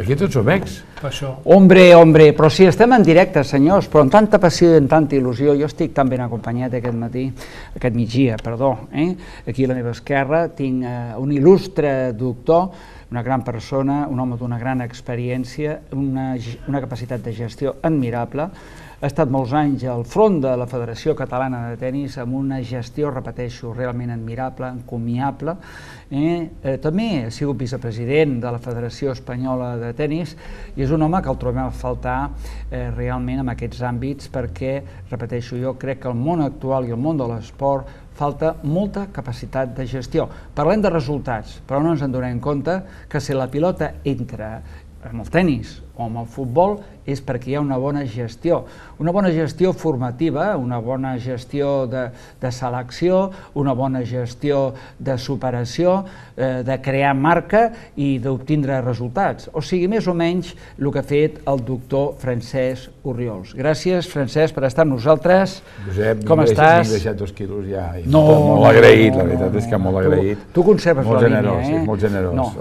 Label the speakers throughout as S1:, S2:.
S1: Aquí tots som ex.
S2: Hombre, però sí, estem en directe, senyors, però amb tanta passió i amb tanta il·lusió. Jo estic tan ben acompanyat aquest migdia, aquí a la meva esquerra tinc un il·lustre doctor, una gran persona, un home d'una gran experiència, una capacitat de gestió admirable. Ha estat molts anys al front de la Federació Catalana de Tenis amb una gestió, repeteixo, realment admirable, encomiable. També ha sigut vicepresident de la Federació Espanyola de Tenis i és un home que el trobem a faltar realment en aquests àmbits perquè, repeteixo, jo crec que el món actual i el món de l'esport falta molta capacitat de gestió. Parlem de resultats, però no ens en donem compte que si la pilota entra amb el tenis o amb el futbol és perquè hi ha una bona gestió formativa, una bona gestió de selecció, una bona gestió de superació, de crear marca i d'obtindre resultats. O sigui, més o menys el que ha fet el doctor Francesc Orriols. Gràcies, Francesc, per estar amb nosaltres.
S1: Josep,
S2: com estàs?
S1: M'he deixat 2 quilos ja. Molt agraït, la veritat és que molt agraït.
S2: Tu conserves la línia, eh?
S1: Molt generós.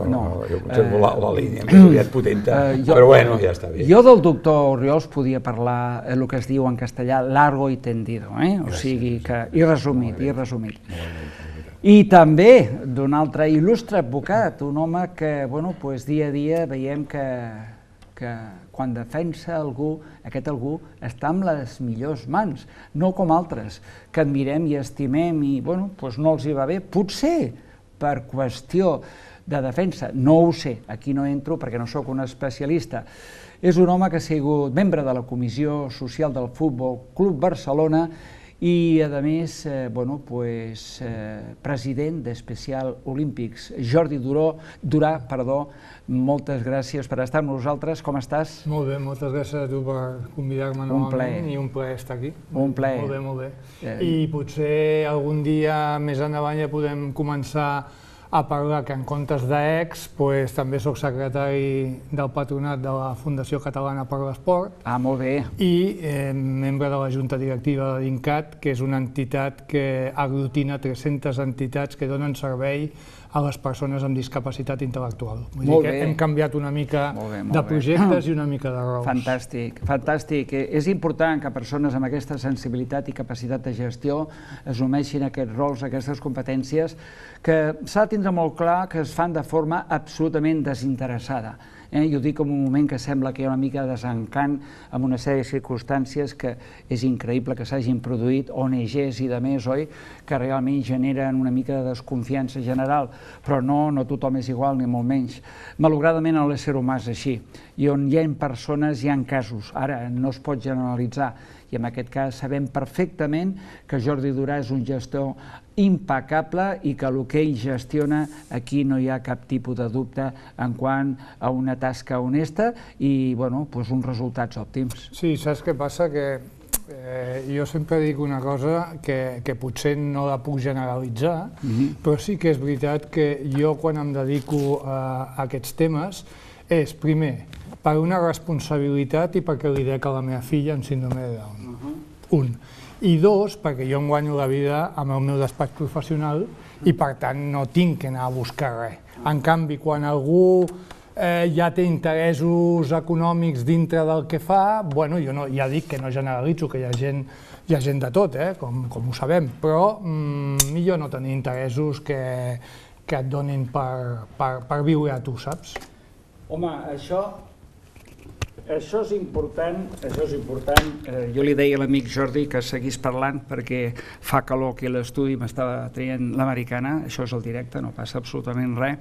S1: Jo conservo la línia, més aviat potenta, però bueno, ja està bé.
S2: Jo del doctor Orriols podia parlar el que es diu en castellà largo y tendido, o sigui que i resumit. I també d'un altre il·lustre advocat, un home que dia a dia veiem que quan defensa algú, aquest algú està en les millors mans, no com altres, que admirem i estimem i no els hi va bé, potser per qüestió de defensa, no ho sé, aquí no entro perquè no sóc un especialista. És un home que ha sigut membre de la Comissió Social del Futbol Club Barcelona i, a més, president d'Especial Olímpics. Jordi Durà, moltes gràcies per estar amb nosaltres. Com estàs?
S3: Molt bé, moltes gràcies a tu per convidar-me novament i un plaer estar aquí.
S2: Un plaer.
S3: Molt bé, molt bé. I potser algun dia més endavant ja podem començar a parlar que en comptes d'ex també soc secretari del patronat de la Fundació Catalana per l'Esport.
S2: Ah, molt bé.
S3: I membre de la Junta Directiva de l'INCAT, que és una entitat que aglutina 300 entitats que donen servei a les persones amb discapacitat intel·lectual. Vull dir que hem canviat una mica de projectes i una mica de rols.
S2: Fantàstic, fantàstic. És important que persones amb aquesta sensibilitat i capacitat de gestió assumeixin aquests rols, aquestes competències, que s'ha de tindre molt clar que es fan de forma absolutament desinteressada. Jo dic en un moment que sembla que hi ha una mica de desencant amb una sèrie de circumstàncies que és increïble que s'hagin produït, ONGs i de més, oi? Que realment generen una mica de desconfiança general, però no tothom és igual, ni molt menys. Malauradament l'ésser humà és així, i on hi ha persones hi ha casos, ara no es pot generalitzar, i en aquest cas sabem perfectament que Jordi Durà és un gestor impecable i que el que ell gestiona aquí no hi ha cap tipus de dubte en quant a una tasca honesta i uns resultats òptims.
S3: Sí, saps què passa? Que jo sempre dic una cosa que potser no la puc generalitzar, però sí que és veritat que jo quan em dedico a aquests temes és, primer, per una responsabilitat i perquè li dec a la meva filla amb síndrome de Down. Un. I dos, perquè jo em guanyo la vida amb el meu despatx professional i per tant no tinc que anar a buscar res. En canvi, quan algú ja té interessos econòmics dintre del que fa, jo ja dic que no generalitzo, que hi ha gent de tot, com ho sabem, però millor no tenir interessos que et donin per viure a tu, saps?
S2: Home, això és important, jo li deia a l'amic Jordi que seguís parlant perquè fa calor aquí a l'estudi, m'estava traient l'americana, això és el directe, no passa absolutament res.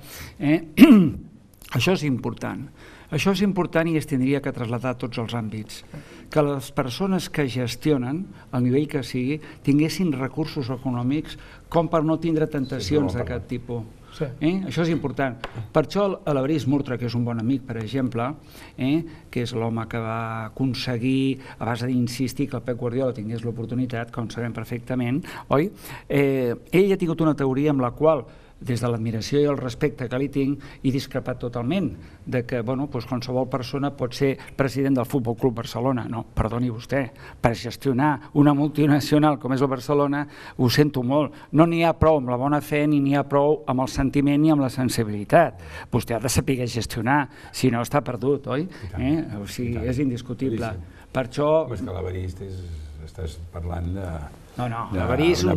S2: Això és important. Això és important i es tindria que traslladar a tots els àmbits. Que les persones que gestionen, al nivell que sigui, tinguessin recursos econòmics com per no tindre tentacions d'aquest tipus. Això és important. Per això l'Alvarís Murtra, que és un bon amic, per exemple, que és l'home que va aconseguir, a base d'insistir que el Pep Guardiola tingués l'oportunitat, com sabem perfectament, oi? Ell ha tingut una teoria amb la qual, des de l'admiració i el respecte que li tinc, he discrepat totalment de que qualsevol persona pot ser president del Futbol Club Barcelona. No, perdoni vostè, per gestionar una multinacional com és el Barcelona, ho sento molt, no n'hi ha prou amb la bona fe ni n'hi ha prou amb el sentiment ni amb la sensibilitat. Vostè ha de saber gestionar, si no està perdut, oi? O sigui, és indiscutible. Per això...
S1: És que l'Alvarís estàs parlant de...
S2: No, l'Alvarís és un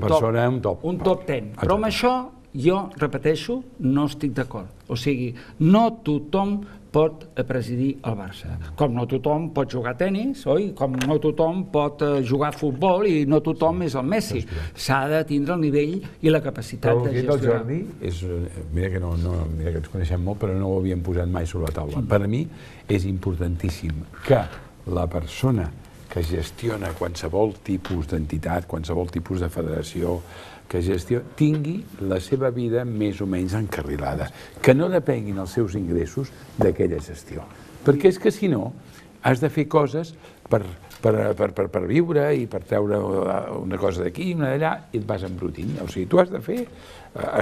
S2: top 10, però amb això jo, repeteixo, no estic d'acord. O sigui, no tothom pot presidir el Barça. Com no tothom pot jugar a tenis, oi? Com no tothom pot jugar a futbol i no tothom és el Messi. S'ha de tindre el nivell i la capacitat de gestionar.
S1: Però el Jordi, mira que ens coneixem molt, però no ho havíem posat mai sobre la taula. Per a mi és importantíssim que la persona que gestiona qualsevol tipus d'entitat, qualsevol tipus de federació, que tingui la seva vida més o menys encarrilada, que no depenguin els seus ingressos d'aquella gestió. Perquè és que, si no, has de fer coses per viure i per treure una cosa d'aquí i una d'allà i et vas embrutint. O sigui, tu has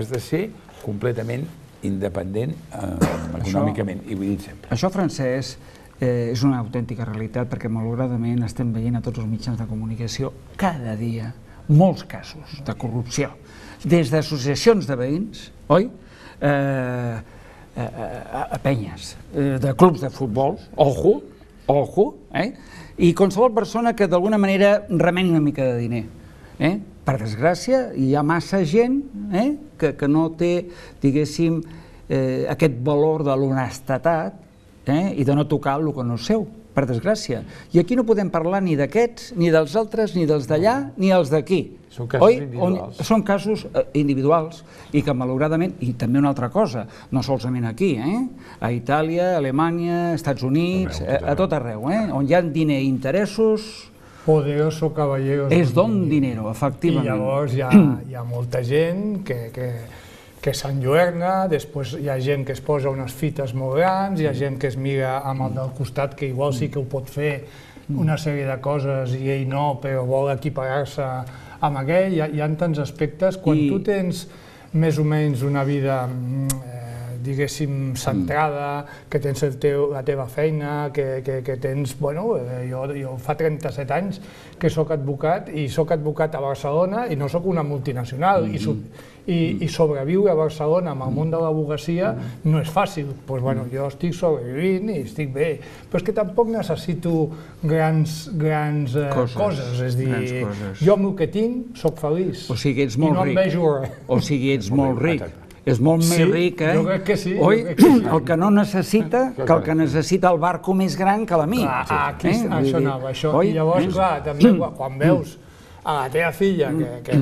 S1: de ser completament independent econòmicament, i ho he dit sempre.
S2: Això, Francesc, és una autèntica realitat, perquè malauradament estem veient a tots els mitjans de comunicació cada dia molts casos de corrupció, des d'associacions de veïns, oi? A penyes, de clubs de futbol, ojo, i qualsevol persona que d'alguna manera remeni una mica de diner. Per desgràcia, hi ha massa gent que no té, diguéssim, aquest valor de l'honestedat i de no tocar el que no és seu, per desgràcia. I aquí no podem parlar ni d'aquests, ni dels altres, ni dels d'allà, ni els d'aquí.
S1: Són casos individuals.
S2: Són casos individuals i que malauradament, i també una altra cosa, no solament aquí, a Itàlia, a Alemanya, Estats Units, a tot arreu, on hi ha diner i interessos...
S3: Poderoso caballero.
S2: És don dinero, efectivament.
S3: I llavors hi ha molta gent que s'enlluerna, després hi ha gent que es posa unes fites molt grans, hi ha gent que es mira amb el del costat, que igual sí que ho pot fer una sèrie de coses i ell no, però vol equiparar-se amb aquell. Hi ha tants aspectes. Quan tu tens més o menys una vida, diguéssim, centrada, que tens la teva feina, que tens... Bueno, jo fa 37 anys que soc advocat i soc advocat a Barcelona i no soc una multinacional i sobreviure a Barcelona amb el món de l'advocacia no és fàcil. Doncs bueno, jo estic sobrevivint i estic bé, però és que tampoc necessito grans coses, és dir, jo amb el que tinc soc feliç i no em vejo res.
S2: O sigui, ets molt ric. És molt més ric,
S3: jo crec que sí.
S2: Oi? El que no necessita, que el que necessita el barco més gran que l'amic.
S3: Això anava, això. I llavors, clar, també quan veus a la teva filla que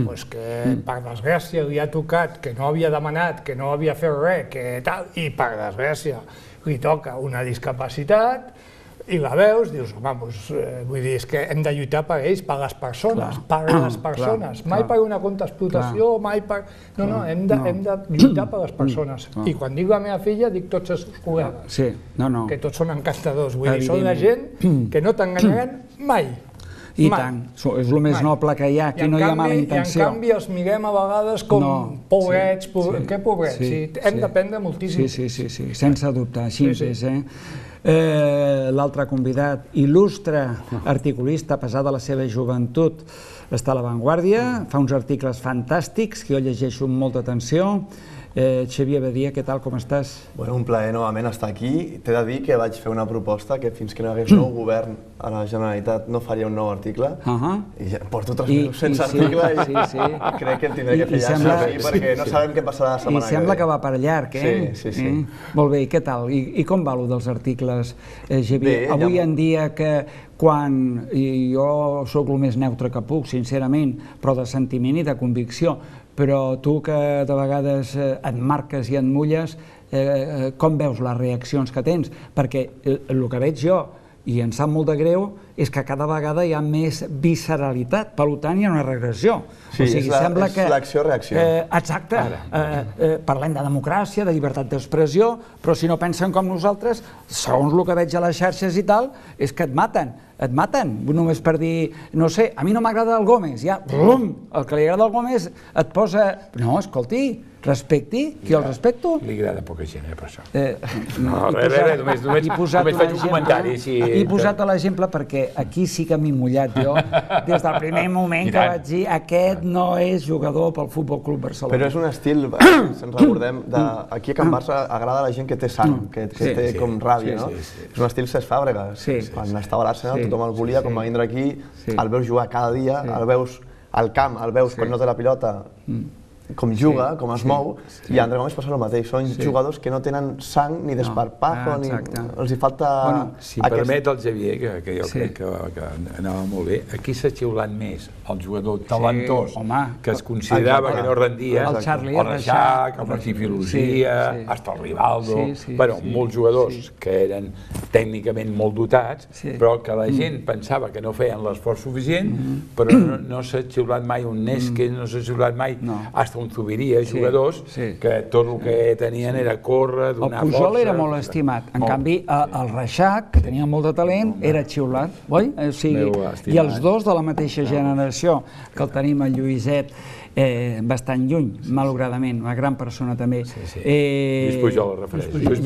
S3: per desgràcia li ha tocat, que no havia demanat, que no havia fet res, i per desgràcia li toca una discapacitat, i la veus, dius, home, vull dir, és que hem de lluitar per ells, per les persones, mai per una contra explotació, mai per... No, hem de lluitar per les persones. I quan dic la meva filla, dic tots els col·legues, que tots són encantadors, vull dir, són la gent que no t'enganyaran mai.
S2: I tant, és el més noble que hi ha, aquí no hi ha mala intenció.
S3: I en canvi els mirem a vegades com pobrets, què pobrets? Hem d'aprendre moltíssim.
S2: Sí, sense dubte, així és, L'altre convidat, il·lustre articulista, a pesar de la seva joventut, està a La Vanguardia, fa uns articles fantàstics que jo llegeixo amb molta atenció. Xavier Badia, què tal, com estàs?
S4: Bueno, un plaer novament estar aquí. T'he de dir que vaig fer una proposta que fins que no hi hagués nou govern a la Generalitat no faria un nou article. I porto 3 mesos sense article i crec que en tindré que fer ja perquè no sabem què passarà la setmana que ve.
S2: I sembla que va per llarg,
S4: Sí.
S2: Molt bé, i què tal? I com va lo dels articles, Xavier? Avui en dia que quan jo sóc el més neutre que puc, sincerament, però de sentiment i de convicció, però tu que de vegades et marques i et mulles, com veus les reaccions que tens? Perquè el que veig jo, i em sap molt de greu, és que cada vegada hi ha més visceralitat, per tant hi ha una regressió.
S4: Sí, és l'acció-reacció.
S2: Exacte. Parlem de democràcia, de llibertat d'expressió, però si no pensen com nosaltres, segons el que veig a les xarxes i tal, és que et maten, només per dir, no sé, a mi no m'agrada el Gómez, ja, el que li agrada el Gómez et posa... No, escolti, respecti, qui el respecto?
S1: Li agrada poca gent, per això.
S2: No,
S1: només faig un comentari.
S2: He posat l'exemple perquè aquí sí que m'he mullat jo, des del primer moment que vaig dir aquest no és jugador pel Futbol Club Barcelona.
S4: Però és un estil, si ens recordem, aquí a Can Barça agrada la gent que té sang, que té com ràbia, no? És un estil Cesc Fàbregas. Quan estava a l'Arsenal tothom el volia, quan va vindre aquí, el veus jugar cada dia, el veus al camp, el veus quan no té la pilota, com juga, com es mou, i a André Gómez passa el mateix. Són jugadors que no tenen sang ni desparpajo, ni els hi falta...
S1: Si em permet el Xavier, que jo crec que anava molt bé, aquí s'ha xiulat més el jugador talentós que es considerava que no rendia, el Reixac, el Martí Filosia, hasta el Rivaldo, bueno, molts jugadors que eren tècnicament molt dotats, però que la gent pensava que no feien l'esforç suficient, però no s'ha xiulat mai un Nésquez, no s'ha xiulat mai un Zubiria, jugadors que tot el que tenien era córrer, donar força...
S2: El Pujol era molt estimat, en canvi el Reixac, que tenia molt de talent, era xiulat, oi? I els dos de la mateixa generació, que el tenim el Lluïset bastant lluny, malauradament, una gran persona també.
S1: Lluís Pujol el refereix.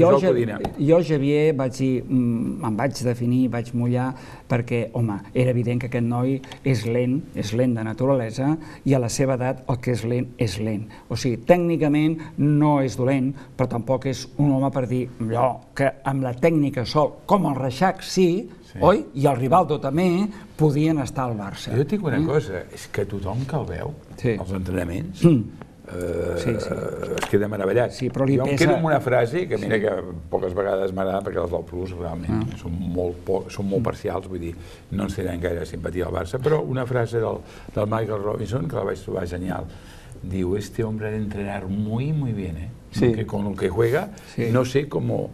S2: Jo, Xavier, vaig dir, em vaig definir, vaig mullar, perquè, home, era evident que aquest noi és lent de naturalesa, i a la seva edat el que és lent. O sigui, tècnicament no és dolent, però tampoc és un home per dir allò que amb la tècnica sol, com el Reixac sí, oi? I el Rivaldo també podien estar al Barça.
S1: Jo et dic una cosa, és que tothom que el veu, els entrenaments, es queda meravellat. Jo em quedo amb una frase, que mira que poques vegades m'agrada, perquè els del Plus realment són molt parcials, vull dir, no ens tenen gaire simpatia al Barça, però una frase del Michael Robinson, que la vaig trobar genial, diu, este hombre ha de entrenar muy bien, que con el que juega, no sé cómo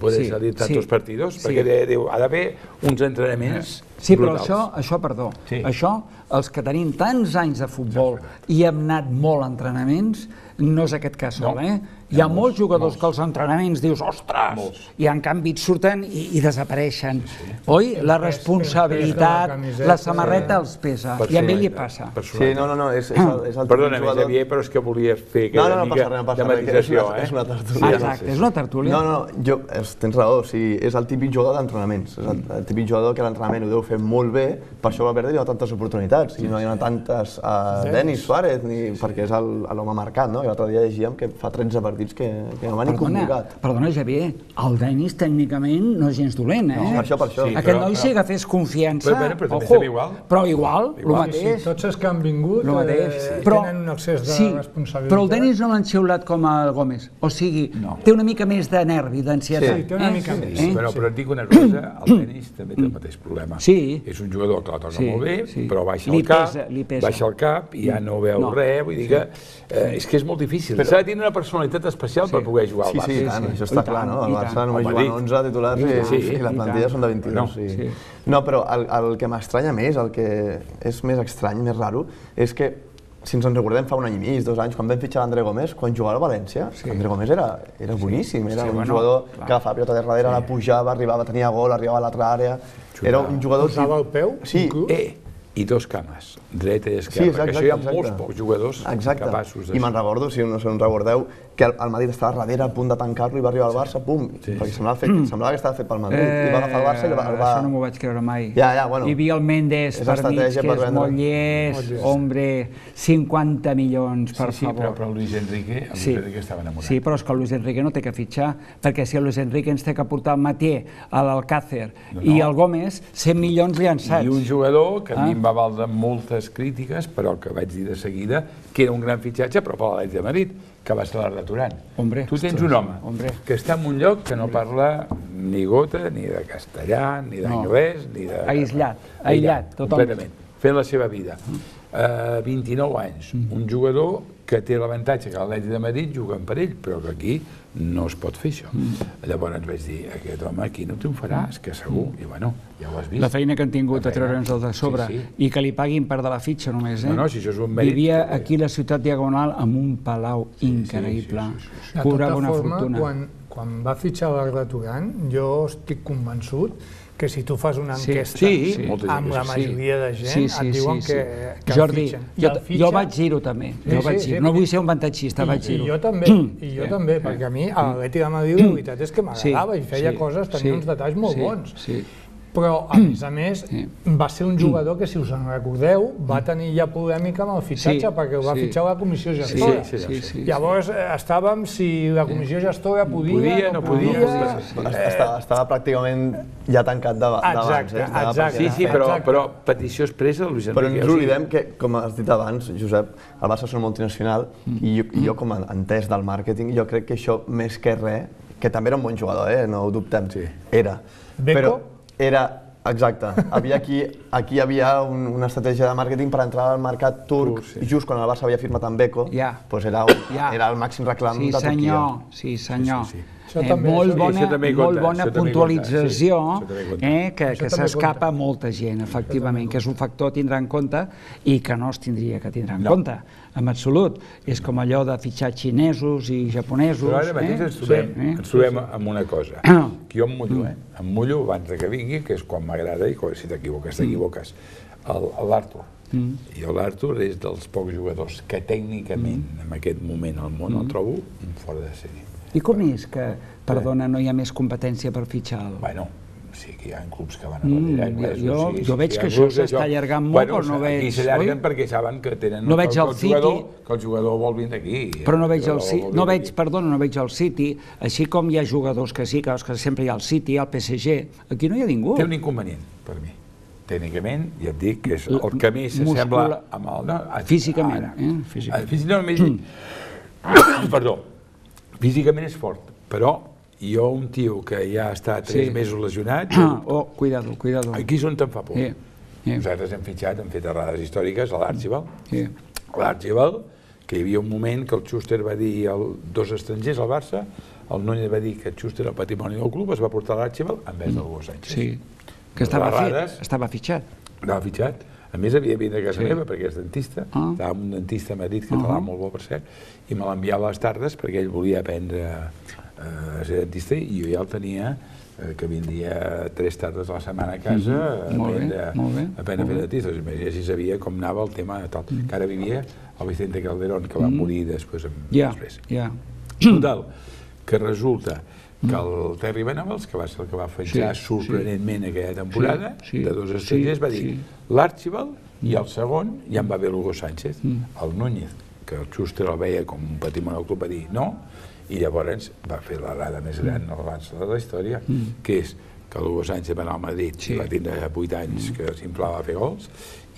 S1: puede salir tantos partidos, perquè ha d'haver uns entrenaments brutals.
S2: Sí, però això, perdó, això, els que tenim tants anys de futbol i hem anat molt a entrenaments, no és aquest cas sol, Hi ha molts jugadors que als entrenaments dius, ostres, i en canvi et surten i desapareixen. Oi? La responsabilitat, la samarreta els pesa, i a ell li passa.
S4: Sí, no, és el típic jugador...
S1: Perdona, Xavier, però és que volia fer aquella mica de matisació,
S4: És una tertúlia.
S2: Exacte, és una tertúlia.
S4: No, tens raó, és el típic jugador d'entrenaments. És el típic jugador que l'entrenament ho deu fer molt bé, per això Valverde hi ha tantes oportunitats, i no hi ha tantes Denis Suárez, perquè és l'home marcat, no? I l'altre dia llegíem que fa 13 partits que no va ni complicat.
S2: Perdona, Xavier, el Denis tècnicament no és gens dolent,
S4: Per això.
S2: Aquest noi si agafés confiança, però igual, el mateix.
S3: Tots els que han vingut tenen un excés de responsabilitat.
S2: Però el Denis no l'han xiulat com el Gómez, o sigui, té una mica més de nervi, d'ansietat.
S3: Sí, té una mica més.
S1: Però et dic una cosa, el Denis també té el mateix problema. És un jugador que la toca molt bé, però baixa el cap i ja no veu res, vull dir que és que és molt difícil. S'ha de tenir una personalitat especial per poder jugar al Barça.
S4: Sí, tant, això està clar, no? El Barça només juguen 11 titulars i la plantilla són de 22. No, però el que m'estranya més, el que és més estrany, més raro, és que si ens en recordem fa un any i mig, 2 anys, quan vam fitxar l'André Gómez, quan jugava al València, l'André Gómez era boníssim, era un jugador que agafava pilota de darrere, la pujava, arribava, tenia gol, arribava a l'altra àrea, era un jugador...
S3: Posava el peu?
S4: Sí.
S1: I dos cames, dreta i esquerra, que això hi ha molts pocs jugadors capaços de...
S4: I me'n recordo, si no us recordeu, que el Madrid estava darrere, a punt de tancar-lo i va arribar al Barça, pum, perquè semblava que estava fet pel Madrid, i va agafar el Barça i el va...
S2: Això no m'ho vaig creure mai.
S4: Bueno.
S2: Hi havia el Méndez per mig, que és molt llest, hombre, 50 milions, per favor.
S1: Sí, però el Luis Enrique estava enamorat.
S2: Sí, però és que el Luis Enrique no té que fitxar, perquè si el Luis Enrique ens té que portar el Mathieu, l'Alcácer i el Gómez, 100 milions llançats.
S1: I un jugador que a mi em va valdre moltes crítiques, però que vaig dir de seguida que era un gran fitxatge, però per l'Atlètic de Madrid, que va ser l'Arda Turan. Tu tens un home que està en un lloc que no parla ni gota, ni de castellà, ni d'anglès, ni de...
S2: Aïllat, totalment.
S1: Completament, fent la seva vida. 29 anys, un jugador que té l'avantatge que l'Atlètic de Madrid juguen per ell, però que aquí no es pot fer això. Llavors vaig dir, aquest home aquí no triomfarà, és que segur, i bueno, ja ho has vist.
S2: La feina que han tingut a treure'ns el de sobre, i que li paguin part de la fitxa només, eh?
S1: No, si això és un mèrit.
S2: Vivia aquí a la ciutat Diagonal amb un palau increïble, cobrava una fortuna.
S3: Quan va fitxar l'Arda Turan, jo estic convençut que si tu fas una enquesta amb la majoria de gent, et diuen que el fitxen.
S2: Jordi, jo vaig dir-ho també, no vull ser un vantatxista, vaig dir-ho.
S3: I jo també, perquè a mi a l'Atlètic de Madrid la veritat és que m'agradava i feia coses, tenia uns detalls molt bons. Però, a més, va ser un jugador que, si us en recordeu, va tenir ja polèmica amb el fitxatge, perquè ho va fitxar la comissió gestora. Llavors, estàvem si la comissió gestora podia, no podia...
S4: Estava pràcticament ja tancat d'abans.
S1: Sí, però petició expressa de Luis Enrique.
S4: Però no ens oblidem que, com has dit abans, Josep, el Barça és una multinacional i jo, com a entès del màrqueting, jo crec que això, més que res, que també era un bon jugador, no ho dubtem, era.
S3: Beco?
S4: Era, exacte. Aquí hi havia una estratègia de màrqueting per entrar al mercat turc, just quan el Barça havia firmat amb Beko, era el màxim reclam de Turquia.
S2: Sí, senyor. Molt bona puntualització, que s'escapa a molta gent, efectivament, que és un factor a tindre en compte i que no es tindria que tindre en compte, en absolut. És com allò de fitxar xinesos i japonesos.
S1: Però ara mateix ens trobem amb una cosa, que jo em mullo abans que vingui, que és quan m'agrada, i si t'equivoques, t'equivoques, l'Artur. I l'Artur és dels pocs jugadors que tècnicament, en aquest moment al món, el trobo fora de sèrie.
S2: I com és que, perdona, no hi ha més competència per fitxar?
S1: Bueno, sí que hi ha clubs que van a retirar anglesos.
S2: Jo veig que això s'està allargant molt, però no veig...
S1: Aquí s'allarguen perquè saben que tenen...
S2: No veig el City...
S1: Que el jugador vol vindre aquí.
S2: Però no veig el City... No veig el City, així com hi ha jugadors que sí, que sempre hi ha el City, el PSG, aquí no hi ha ningú.
S1: Té un inconvenient, per mi. Tècnicament, ja et dic, que és el que més s'assembla amb el...
S2: Físicament.
S1: Perdó. Físicament és fort, però jo, un tio que ja està 3 mesos lesionat...
S2: Cuidado.
S1: Aquí és on te'n fa por. Nosaltres hem fitxat, hem fet errades històriques a l'Archibald. L'Archibald, que hi havia un moment que el Schuster va dir dos estrangers al Barça, el Núñez va dir que el Schuster era el patrimoni del club, es va portar l'Archibald en vez del Hugo Sánchez.
S2: Sí, que estava fitxat.
S1: Estava fitxat. A més, havia de venir a casa meva, perquè és dentista. Estava amb un dentista a Madrid, català, molt bo, per cert, i me l'enviava a les tardes perquè ell volia aprendre a ser dentista i jo ja el tenia, que vindria 3 tardes a la setmana a casa a aprendre a fer dentista. Així sabia com anava el tema tal. Que ara vivia el Vicente Calderón, que va morir després. Total, que resulta que el Terry Venables, que va ser el que va fitxar sorprenentment aquella temporada, de 2 estrangers, va dir l'Archibald i el segon ja en va haver l'Hugo Sánchez. El Núñez, que el Schuster el veia com un patrimoni del club, va dir no, i llavors va fer l'errada més gran de la història, que és que l'Hugo Sánchez va anar al Madrid, va tindre 8 anys que s'inflava a fer gols,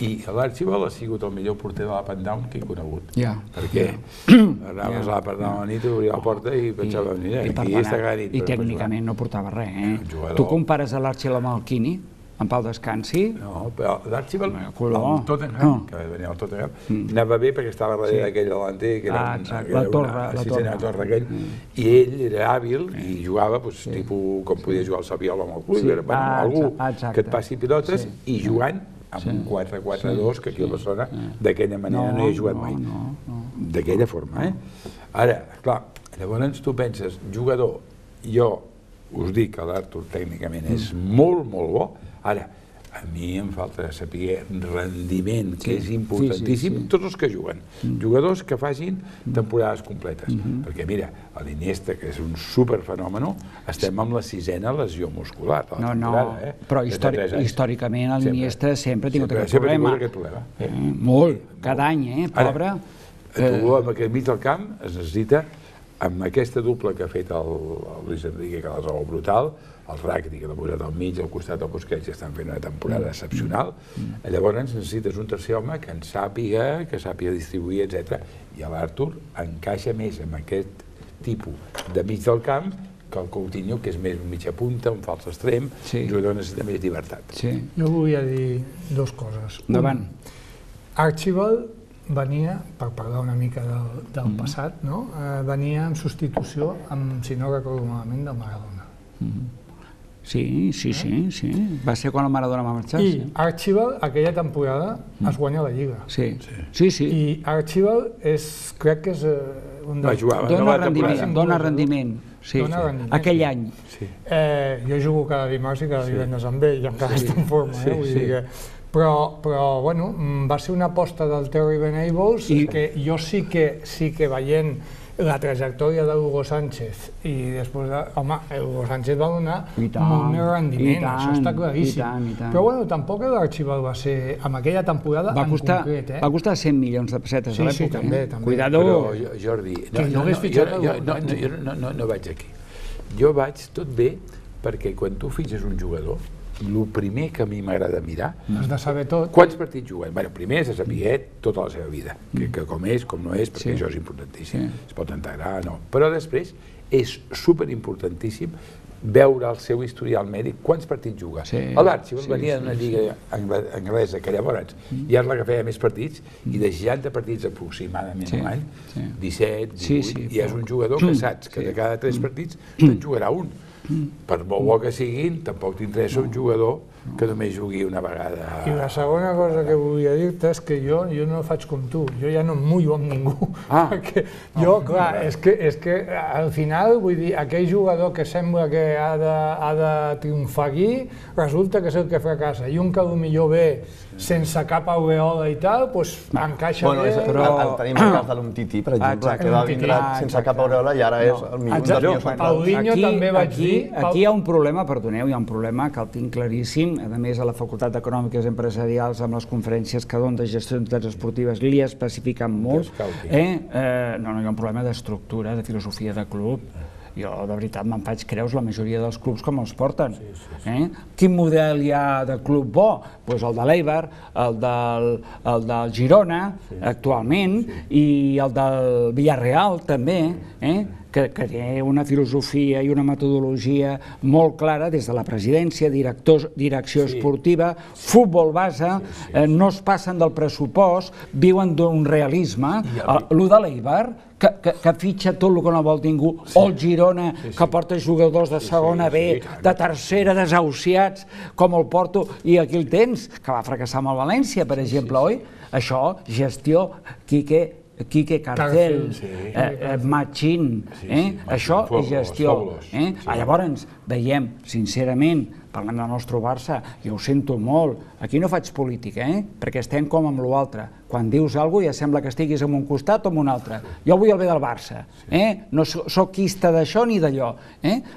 S1: i l'Archibald ha sigut el millor porter de l'Up and Down que he conegut. Perquè anaves a l'Up and Down a la nit, obria la porta i pensava, mira, aquí està cada nit.
S2: I tècnicament no portava res, eh? Tu compares l'Archibald amb el Quini? En Pau descansi?
S1: No, però l'Archibald, el Tottenham, que va venir al Tottenham, anava bé perquè estava darrere d'aquell delanter, que era
S2: la torre
S1: aquell, i ell era hàbil i jugava, tipus, com podia jugar el Saviola amb el club, algú que et passi pilotes i jugant amb un 4-4-2, que aquí a Barcelona d'aquella manera no hi he jugat mai. D'aquella forma, Ara, clar, llavors tu penses, jugador, jo us dic que l'Artur tècnicament és molt, molt bo. Ara, a mi em falta saber rendiment, que és importantíssim, tots els que juguen. Jugadors que facin temporades completes. Perquè mira, l'Iniesta, que és un superfenòmeno, estem amb la 6a lesió muscular.
S2: No, però històricament l'Iniesta sempre ha tingut aquest problema. Molt, cada any, pobre.
S1: Tu, amb aquest mig del camp, es necessita, amb aquesta dupla que ha fet el Luis Enrique, que és el brutal, el Rakitic, que l'ha posat al mig, al costat del Busquets, que estan fent una temporada excepcional, llavors necessites un tercer home que en sàpiga, que sàpiga distribuir, etc. I l'Artur encaixa més amb aquest tipus de mig del camp que el Coutinho, que és més un mitja punta, un fals extrem, un jugador necessita més llibertat.
S3: Jo volia dir 2 coses.
S2: Endavant.
S3: Archibald venia, per parlar una mica del passat, venia en substitució, si no recordo malament, del Maradona.
S2: Sí. Va ser quan el Maradona va marxar.
S3: I Archibald, aquella temporada, es guanya la Lliga.
S2: Sí.
S3: I Archibald crec que és un dels...
S2: Dona rendiment. Aquell any.
S3: Jo jugo cada dimarts i cada divendres amb ell, i encara està en forma. Però, bueno, va ser una aposta del Terry Venables que jo sí que veient la trajectòria d'Hugo Sánchez i després, home, Hugo Sánchez va donar molt més rendiment, això està claríssim. Però bueno, tampoc l'Archibald va ser, en aquella temporada en concret.
S2: Va costar 100 milions de pessetes a l'època.
S3: Sí, també.
S2: Cuidado.
S1: Però, Jordi, no vaig aquí. Jo vaig tot bé perquè quan tu fitxes un jugador, el primer que a mi m'agrada mirar...
S3: Has de saber tot.
S1: Quants partits juguen? Bé, primer és de saber tota la seva vida, que com és, com no és, perquè això és importantíssim. Es pot integrar, no. Però després és superimportantíssim veure el seu historial mèdic, quants partits juga. L'Archibald venia d'una lliga anglesa que llavors ja és la que feia més partits i de 60 partits aproximadament un any, 17, 18, i és un jugador que saps que de cada 3 partits te'n jugarà un. Per molt bo que siguin, tampoc t'interessa un jugador que només jugui una vegada.
S3: I la segona cosa que volia dir-te és que jo no faig com tu, jo ja no em mullo amb ningú. Perquè jo, clar, és que al final, vull dir, aquell jugador que sembla que ha de triomfar aquí, resulta que és el que fracassa. I un que potser ve sense cap aureola i tal, doncs encaixa bé.
S4: Tenim el cas de l'Umtiti, per exemple, que va vindre sense cap aureola i ara és el millor dels millors centrals.
S3: Paulinho també vaig dir...
S2: Aquí hi ha un problema, perdoneu, hi ha un problema que el tinc claríssim, a més a la Facultat d'Econòmiques Empresarials, amb les conferències que donen de gestió d'entitats esportives, li especifiquen molt. No, hi ha un problema d'estructura, de filosofia de club. Jo, de veritat, me'n faig creus la majoria dels clubs com els porten. Quin model hi ha de club bo? Doncs el de l'Eibar, el del Girona, actualment, i el del Villarreal, també, que té una filosofia i una metodologia molt clara des de la presidència, direcció esportiva, futbol base, no es passen del pressupost, viuen d'un realisme. Lo de l'Eibar, que fitxa tot el que no vol ningú, o el Girona, que porta jugadors de segona B, de tercera, desahuciats, com el Porto, i aquí el tens, que va fracassar amb el València, per exemple, oi? Això, gestió, Quique Carcel, Machín, això és gestió. Llavors veiem, sincerament, parlem del nostre Barça, jo ho sento molt, aquí no faig política, perquè estem com amb l'altre. Quan dius alguna cosa ja sembla que estiguis en un costat o en un altre. Jo vull el bé del Barça, no soc quista d'això ni d'allò,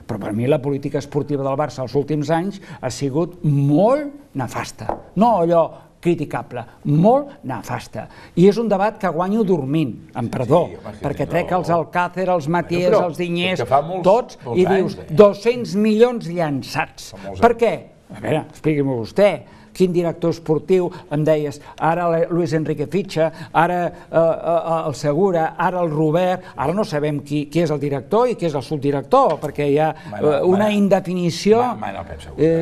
S2: però per mi la política esportiva del Barça els últims anys ha sigut molt nefasta. No allò criticable, molt nefasta. I és un debat que guanyo dormint, amb perdó, perquè trec els Alcácer, els Matiés, els Dinyers, tots, i dius 200 milions llançats. Per què? A veure, expliqui-m'ho vostè. Quin director esportiu, em deies, ara Luis Enrique fitxa, ara el Segura, ara el Robert, ara no sabem qui és el director i qui és el subdirector, perquè hi ha una indefinició...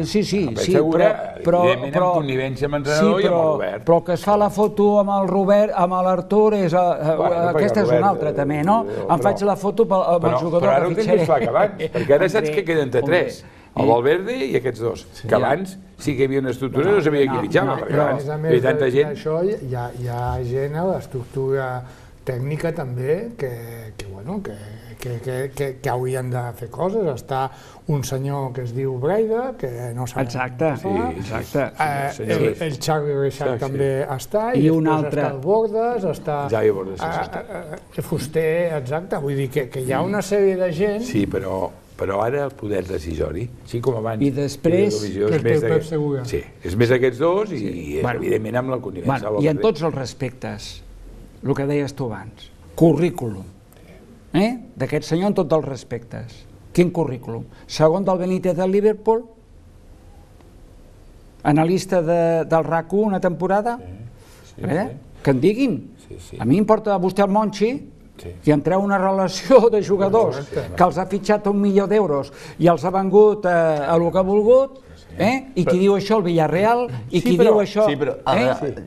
S2: Sí, però...
S1: Evidentment amb connivència amb l'entrenador i amb el Robert.
S2: Però que es fa la foto amb el Robert, amb l'Artur, aquesta és una altra també, no? Em faig la foto amb el jugador
S1: que fitxaré. Però ara ho tens més clar que abans, perquè ara saps que queden entre 3. El Valverde i aquests dos, que abans sí que hi havia una estructura i no sabia qui fitxava, perquè abans hi havia tanta gent.
S3: Això hi ha gent a l'estructura tècnica també que haurien de fer coses. Està un senyor que es diu Breida, que no sabem què fa. El Xavi Reixac també està, i després està el Bordes, està Fuster, exacte. Vull dir que hi ha una sèrie de gent...
S1: Sí, però ara el poder decisori, així com abans...
S2: I després...
S1: Sí, és més aquests dos i evidentment amb la connivència.
S2: I en tots els respectes, el que deies tu abans, currículum, d'aquest senyor en tots els respectes. Quin currículum? Segon del Benítez del Liverpool? Analista del RAC1 una temporada? Que en diguin. A mi importa vostè el Monchi, i entreu una relació de jugadors que els ha fitxat 1 milió d'euros i els ha vengut a el que ha volgut, I qui diu això el Villarreal, i qui diu això...
S4: Sí, però,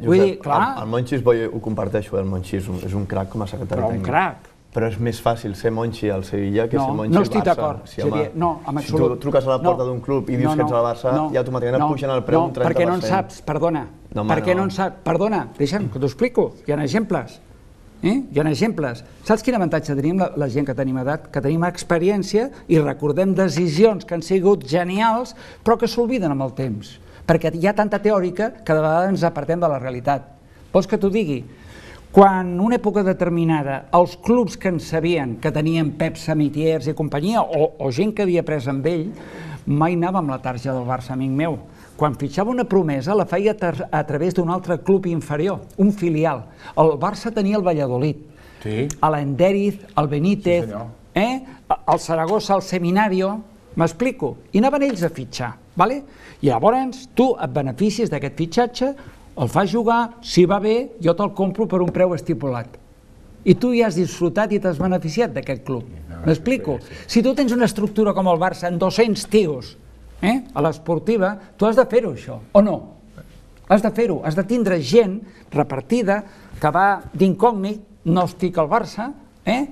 S2: vull dir, clar...
S4: El Monchi ho comparteixo, el Monchi és un crac com a secretari tècnic.
S2: Però un crac.
S4: Però és més fàcil ser Monchi al Sevilla que ser Monchi al Barça.
S2: No estic d'acord, Xavier, no, en absolut.
S4: Si tu truques a la porta d'un club i dius que ets al Barça, ja automàticament et pugen el preu un 30%.
S2: No, perquè no en saps, perdona. Perquè no en saps, perdona, deixa'm que t'ho explico, hi ha exemples. Hi ha exemples. Saps quin avantatge tenim la gent que tenim edat? Que tenim experiència i recordem decisions que han sigut genials, però que s'obliden amb el temps. Perquè hi ha tanta teòrica que de vegades ens apartem de la realitat. Vols que t'ho digui? Quan en una època determinada els clubs que en sabien, que tenien Pep Samitiers i companyia, o gent que havia pres amb ell, mai anava amb la tarja del Barça, amic meu. Quan fitxava una promesa la feia a través d'un altre club inferior, un filial. El Barça tenia el Valladolid, l'Enderiz, el Benítez, el Saragossa, el Seminario, m'explico? I anaven ells a fitxar, i llavors tu et beneficies d'aquest fitxatge, el fas jugar, si va bé, jo te'l compro per un preu estipulat. I tu ja has disfrutat i t'has beneficiat d'aquest club. M'explico? Si tu tens una estructura com el Barça, amb 200 tios, a l'esportiva, tu has de fer-ho, això, o no? Has de fer-ho, has de tindre gent repartida que va d'incògnit, no estic al Barça,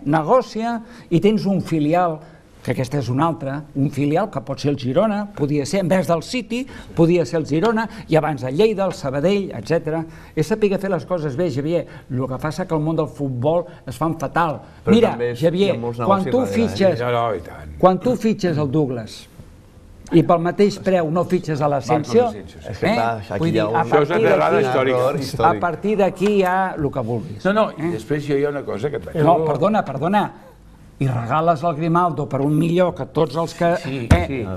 S2: negocia, i tens un filial, que aquesta és una altra, un filial que pot ser el Girona, podia ser, en vez del City, podia ser el Girona, i abans el Lleida, el Sabadell, etc. És saber fer les coses bé, Xavier. El que passa que el món del futbol es fan fatal. Mira, Xavier, quan tu fitxes el Douglas i pel mateix preu no fitxes a l'Asensio, a partir d'aquí hi ha el que vulguis.
S1: No, i després hi ha una cosa que et vaig dir.
S2: No, perdona, i regales el Grimaldo per 1 milió que tots els que...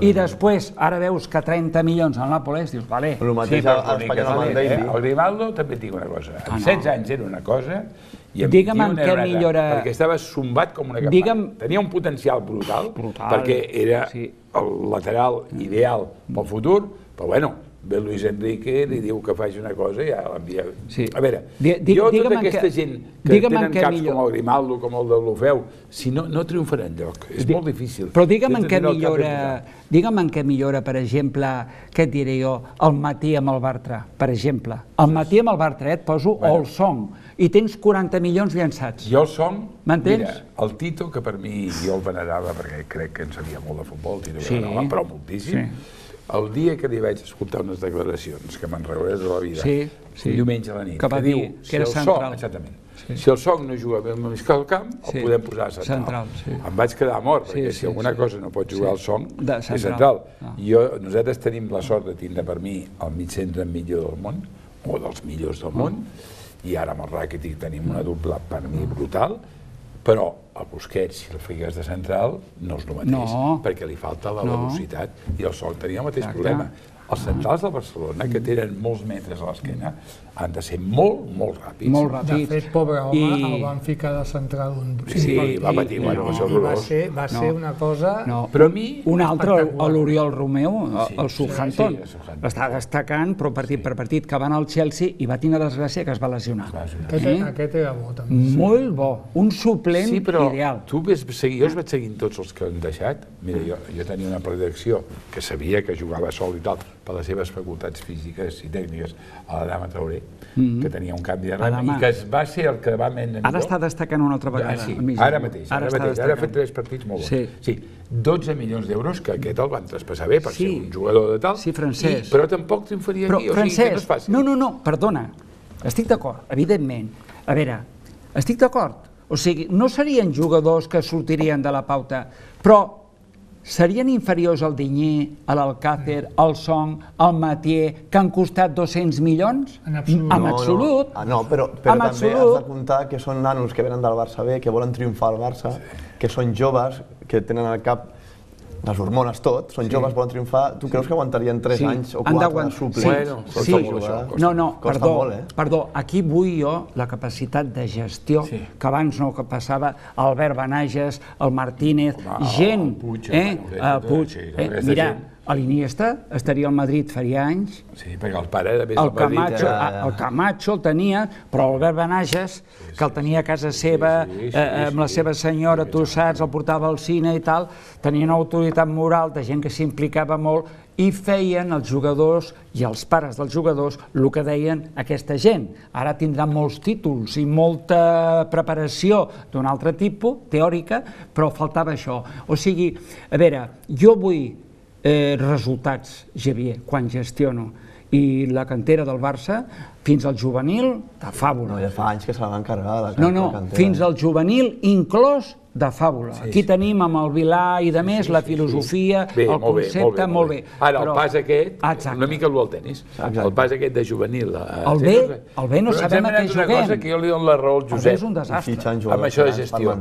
S2: I després, ara veus que 30 milions al Nàpoles, dius, vale.
S4: El mateix a Espanya amb el Daily.
S1: El Grimaldo també et dic una cosa. Amb 16 anys era una cosa i amb 21 era una altra, perquè estava zumbat com una campana. Tenia un potencial brutal, perquè era el lateral ideal pel futur, però bueno, ve Luis Enrique, li diu que faci una cosa i ja l'envia. A veure, jo tota aquesta gent que tenen caps com el Grimaldo, com el de l'Ofeu, si no triomfarà enlloc, és molt difícil.
S2: Però digue'm en què millora, per exemple, què et diré jo, el Matí amb el Bartra, per exemple. El Matí amb el Bartra, et poso, o el Song, i tens 40 milions llançats.
S1: Jo el Song, mira, el Tito, que per mi jo el venerava, perquè crec que en sabia molt de futbol, el Tito venerava, però moltíssim. El dia que li vaig escoltar unes declaracions que me'n recordaré de la vida, un diumenge a la nit, que diu, si el Song no juga bé al mig del camp, el podem posar a central. Em vaig quedar mort, perquè si alguna cosa no pot jugar al Song, és central. Nosaltres tenim la sort de tindre per mi el mig centre millor del món, o dels millors del món, i ara amb el Rakitic tenim una dupla per mi brutal, però el Busquets, si el fiques de central, no és el mateix, perquè li falta la velocitat, i el Song tenia el mateix problema. Els centrals del Barcelona, que tenen molts metres a l'esquena, han de ser molt, molt ràpids.
S2: Molt ràpids.
S3: De fet, pobre home, el van ficar de central un partit.
S1: Sí, va patir, va ser horrorós.
S3: Va ser una cosa...
S2: Però a mi... Un altre, l'Oriol Romeu, el Southampton, està destacant, però partit per partit, que va anar al Chelsea i va tenir desgràcia que es va lesionar.
S3: Aquest era bo, també.
S2: Molt bo, un suplent ideal. Sí, però
S1: tu jo els vaig seguint tots els que han deixat. Mira, jo tenia una predicció que sabia que jugava sol i tal, per les seves facultats físiques i tècniques, a l'Adama Traoré, que tenia un canvi de ram i que va ser el que va menys...
S2: Ara està destacant una altra vegada.
S1: Sí, ara mateix. Ara ha fet 3 partits molt bons. Sí, 12 milions d'euros, que aquest el van traspassar bé per ser un jugador de tal.
S2: Sí, francès.
S1: Però tampoc triomfaria aquí, o sigui que no és fàcil.
S2: No, perdona. Estic d'acord, evidentment. A veure, estic d'acord. O sigui, no serien jugadors que sortirien de la pauta, però serien inferiors al Digne, a l'Alcácer, al Song, al Mathieu, que han costat 200 milions? En absolut.
S4: No, però també has de comptar que són nanos que venen del Barça B, que volen triomfar al Barça, que són joves, que tenen al cap les hormones tot, són joves, volen triomfar. Tu creus que aguantarien 3 anys o 4 suplents?
S2: Sí, no, perdó, aquí vull jo la capacitat de gestió, que abans no passava Albert Benages, el Martínez, gent, Puig, mira, l'Iniesta estaria al Madrid faria anys.
S1: Sí, perquè el pare era més
S2: El Camacho el tenia, però Albert Benages, que el tenia a casa seva, amb la seva senyora, tu saps, el portava al cine i tal, tenia una autoritat moral de gent que s'implicava molt i feien els jugadors i els pares dels jugadors el que deien aquesta gent. Ara tindran molts títols i molta preparació d'un altre tipus, teòrica, però faltava això. O sigui, a veure, jo vull resultats, Xavier, quan gestiono, i la cantera del Barça, fins al juvenil, de fàbula.
S4: No, ja fa anys que se la van carregar, la
S2: cantera. No, fins al juvenil inclòs de fàbula. Aquí tenim amb el Vilà i de més la filosofia, el concepte, molt bé.
S1: Ara, el pas aquest, una mica el tennis, el pas aquest de juvenil.
S2: El B no sabem a què juguem.
S1: Una cosa que jo li dono la raó al Josep.
S2: El B és un desastre.
S1: Amb això de gestió.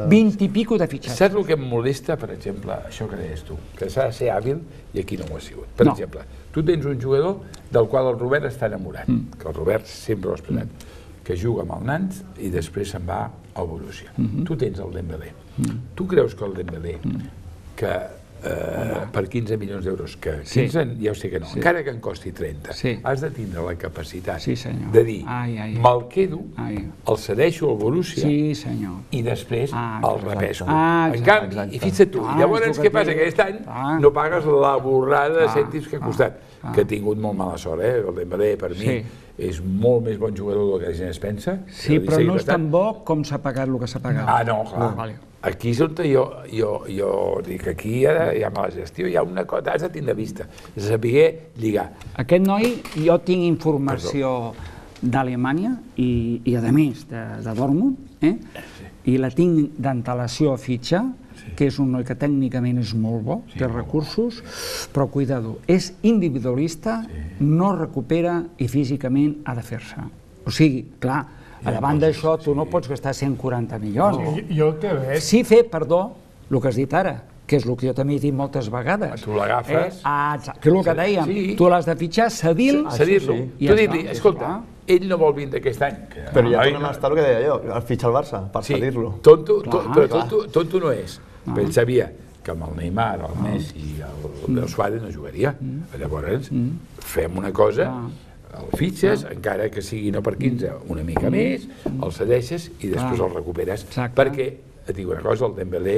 S2: 20 i pico de fitxatges.
S1: Saps el que em molesta, per exemple, això que deies tu, que s'ha de ser hàbil i aquí no ho ha sigut. Per exemple, tu tens un jugador del qual el Robert està enamorat, que el Robert sempre ho ha expressat, que juga amb el Nantes i després se'n va al Borussia. Tu tens el Dembélé. Tu creus que el Dembélé, que per 15 milions d'euros, que 15 ja ho sé que no, encara que en costi 30, has de tindre la capacitat de dir, me'l quedo, el cedeixo al Borussia i després el repesco. En canvi, i fixa't tu, llavors què passa? Aquest any no pagues la borrada de cèntims que ha costat, que ha tingut molt mala sort, el Dembélé per mi és molt més bon jugador del que la gent es pensa.
S2: Sí, però no és tan bo com s'ha pagat el que s'ha pagat.
S1: Ah, no, clar. Aquí és on jo dic que aquí hi ha mala gestió, hi ha una cosa, has de tindre vista, de saber lligar.
S2: Aquest noi, jo tinc informació d'Alemanya i a més de Dortmund, i la tinc d'antelació a fitxa, que és un noi que tècnicament és molt bo, té recursos, però cuidado, és individualista, no recupera i físicament ha de fer-se. O sigui, clar, a davant d'això tu no pots gastar 140 milions.
S3: Jo el que veig...
S2: Sí fer, perdó, el que has dit ara, que és el que jo també he dit moltes vegades.
S1: Tu l'agafes...
S2: Que és el que dèiem, tu l'has de fitxar, cedir-lo.
S1: Cedir-lo. Tu dius, escolta, ell no vol vindre aquest any.
S4: Però ja tornem a estar el que deia jo, el fitxar el Barça, per cedir-lo.
S1: Tonto no és. Però ell sabia que amb el Neymar, el Messi i el Suárez no jugaria. Llavors, fem una cosa, el fitxes, encara que sigui no per 15, una mica més, el cedeixes i després el recuperes. Perquè, et dic una cosa, el Dembélé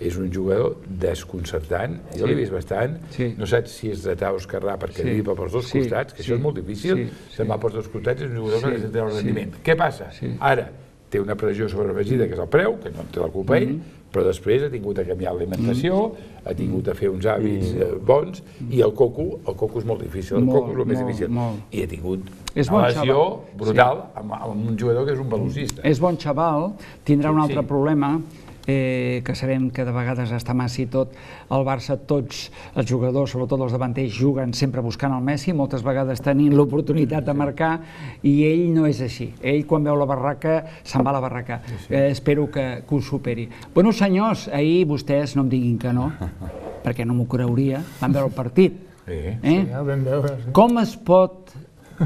S1: és un jugador desconcertant, jo l'he vist bastant, no saps si és dretà o esquerrà perquè driba pels dos costats, que això és molt difícil, se'n va pels dos costats, és un jugador que necessita el rendiment. Què passa? Ara, té una pressió sobreafegida, que és el preu, que no en té la culpa ell, però després ha tingut de canviar l'alimentació, ha tingut de fer uns hàbits bons, i el coco és molt difícil, el coco és el més difícil. I ha tingut una lesió brutal amb un jugador que és un velocista.
S2: És bon xaval, tindrà un altre problema, que sabem que de vegades està massa i tot, el Barça, tots els jugadors, sobretot els davanters, juguen sempre buscant el Messi, moltes vegades tenint l'oportunitat de marcar, i ell no és així. Ell, quan veu la barraca, se'n va a la barraca. Espero que ho superi. Bueno, senyors, ahir vostès no em diguin que no, perquè no m'ho creuria, van veure el partit. Com es pot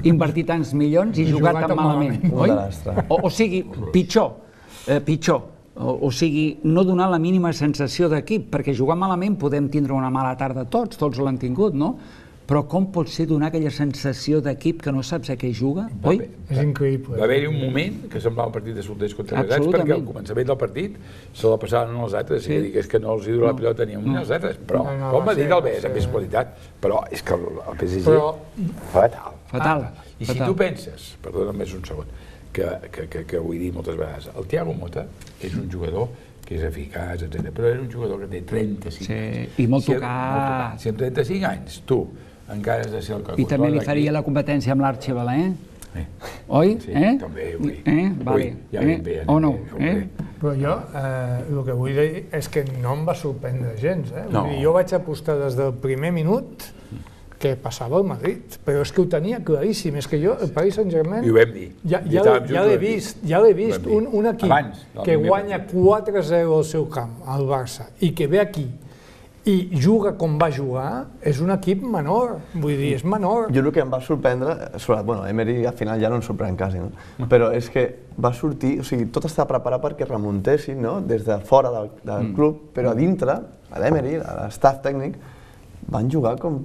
S2: invertir tants milions i jugar tan malament? O sigui, pitjor. O sigui, no donar la mínima sensació d'equip, perquè jugar malament podem tindre una mala tarda tots l'han tingut, no? Però com pot ser donar aquella sensació d'equip que no saps a què juga, oi?
S3: És increïble.
S1: Va haver-hi un moment que semblava un partit de solters contra negats, perquè al començament del partit se la passaven els altres, és que no els dura la pilota ni un ni els altres, però com va dir el Bes, amb més qualitat, però és que el PSG... Fatal. I si tu penses, perdona'm més un segon, que ho he dit moltes vegades, el Thiago Motta és un jugador que és eficaç, etc. Però és un jugador que té 35 anys.
S2: I molt tocat.
S1: Si amb 35 anys tu encara has de ser el que...
S2: I també li faria la competència amb l'Archibald, Oi?
S1: Sí, també, ui.
S2: O no?
S3: Però jo el que vull dir és que no em va sorprendre gens. Jo vaig apostar des del primer minut que passava al Madrid, però és que ho tenia claríssim, és que jo, el Paris Saint-Germain...
S1: I ho vam dir.
S3: Ja l'he vist, un equip que guanya 4-0 al seu camp, al Barça, i que ve aquí i juga com va jugar, és un equip menor, vull dir, és menor.
S4: Jo el que em va sorprendre, Emery al final ja no em sorprèn quasi, però és que va sortir, o sigui, tot estava preparat perquè remuntessin des de fora del club, però a dintre, a l'Emery, a l'estaf tècnic, van jugar com...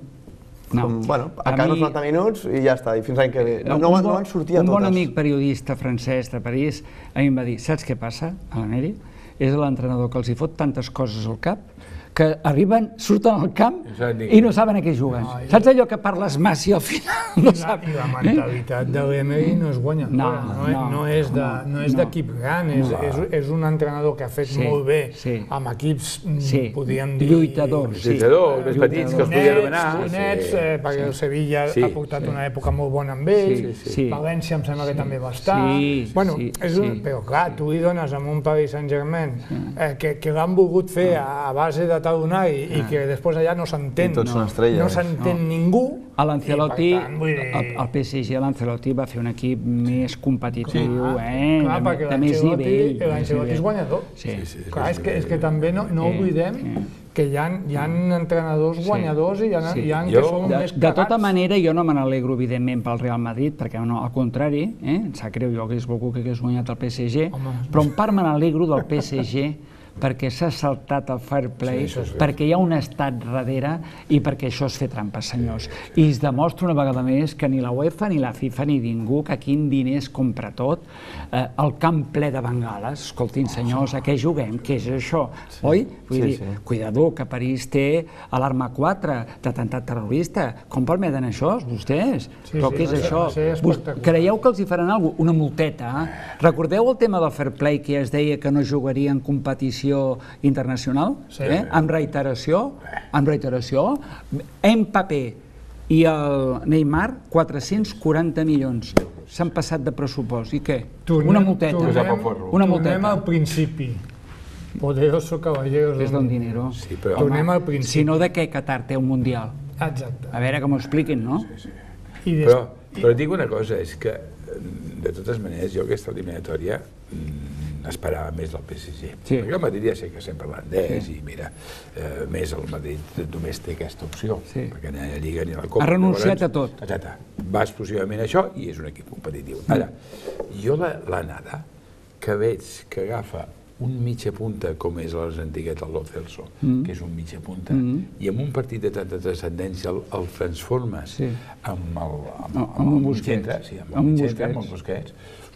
S4: Bueno, a cada 90 minuts i ja està, i fins l'any que ve. No van sortir a totes.
S2: Un bon amic periodista francès de París a mi em va dir, saps què passa a l'Amèric? És l'entrenador que els hi fot tantes coses al cap que arriben, surten al camp i no saben a què juguen. Saps allò que parles massa i al final no saps?
S3: I la mentalitat de l'Emery no és guanyadora, no és d'equip gran, és un entrenador que ha fet molt bé amb equips, podríem dir...
S2: Lluitadors.
S1: Lluitadors, més petits, que els podia demanar.
S3: Nets, perquè el Sevilla ha portat una època molt bona amb ells, València em sembla que també va estar... Però clar, tu li dones amb un Paris Saint-Germain que l'han volgut fer a base de tadonar i que després allà no s'entén, no s'entén ningú.
S2: A l'Ancelotti, el PSG, l'Ancelotti va fer un equip més competitiu, de més nivell.
S3: L'Ancelotti és guanyador. Clar, és que també no oblidem que hi ha entrenadors guanyadors i hi ha que són més cagats.
S2: De tota manera, jo no me n'alegro, evidentment, pel Real Madrid, perquè al contrari, em sap greu, jo hagués volgut que hagués guanyat el PSG, però en part me n'alegro del PSG perquè s'ha saltat el fair play, perquè hi ha un estat darrere i perquè això és fer trampes, senyors. I es demostra una vegada més que ni la UEFA, ni la FIFA, ni ningú, que aquí en diners compra tot, el camp ple de bengales, escoltin, senyors, a què juguem? Què és això? Oi? Vull dir, cuidado, que París té l'arma 4 d'atemptat terrorista. Com permeten això, vostès? Però què és això? Creieu que els hi faran alguna cosa? Una multeta? Recordeu el tema del fair play que es deia que no jugaria en competició internacional, amb reiteració, Mbappé i el Neymar, 440 milions. S'han passat de pressupost. I què? Una multeta.
S3: Tornem al principi. Poderoso caballeros.
S2: És don dinero.
S3: Tornem al principi.
S2: Si no, de què Qatar té un mundial?
S3: Exacte.
S2: A veure que m'ho expliquin, no?
S1: Però et dic una cosa, és que, de totes maneres, jo aquesta eliminatòria esperava més del PSG. Perquè el Madrid ja sé que estem parlant d'ells i mira, més el Madrid només té aquesta opció, perquè ni a la Lliga ni a la Copa.
S2: Ha renunciat a tot.
S1: Exacte. Va exclusivament a això i és un equip competitiu. Ara, jo l'anada que veig que agafa un mitja punta com és l'Argentiguet, el Lo Celso, que és un mitja punta, i en un partit de tanta transcendència el transformes amb el Busquets, amb el Busquets.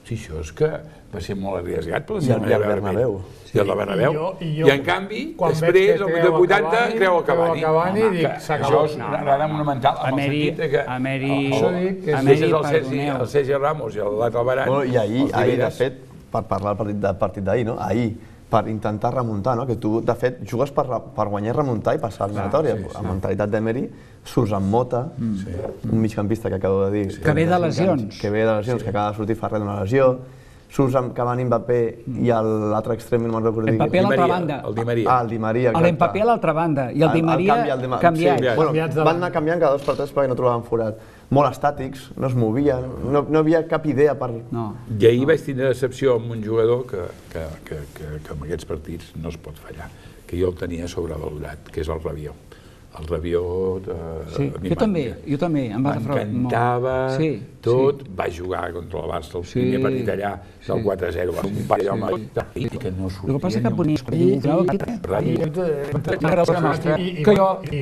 S1: Sí, això és que va ser molt arriesgat per la seva manera de veure. I el de Bernabéu. I en canvi, després, al minut 80, creu el Cavani. Això és una errada monumental, amb el sentit que deixes el Sergi Ramos i l'altre Varane.
S4: I ahir, de fet, per parlar del partit d'ahir, ahir, per intentar remuntar, que tu, de fet, jugues per guanyar i remuntar i passar l'eliminatòria. La mentalitat d'Emery, surts amb Mota, un migcampista que acabo de dir...
S2: Que ve de lesions.
S4: Que acaba de sortir Ferrer d'una lesió. Surts amb Cavani, Mbappé i l'altre extrem, no me'n recordo dir...
S2: Mbappé a l'altra banda.
S1: El Di Maria.
S4: El Di Maria, exacte.
S2: L'Mbappé a l'altra banda i el Di Maria canviat.
S4: Van anar canviant cada 2 per 3 perquè no trobaven forat. Molt estàtics, no es movien, no hi havia cap idea per...
S1: I ahir vaig tindre decepció amb un jugador que en aquests partits no es pot fallar, que jo el tenia sobrevalorat, que és el Rabiot. El Rabiot...
S2: Jo també, em va defraudar molt.
S1: M'encantava tot, va jugar contra el Barça el primer partit allà, del 4-0, va un parell i que no sortia.
S2: El que passa que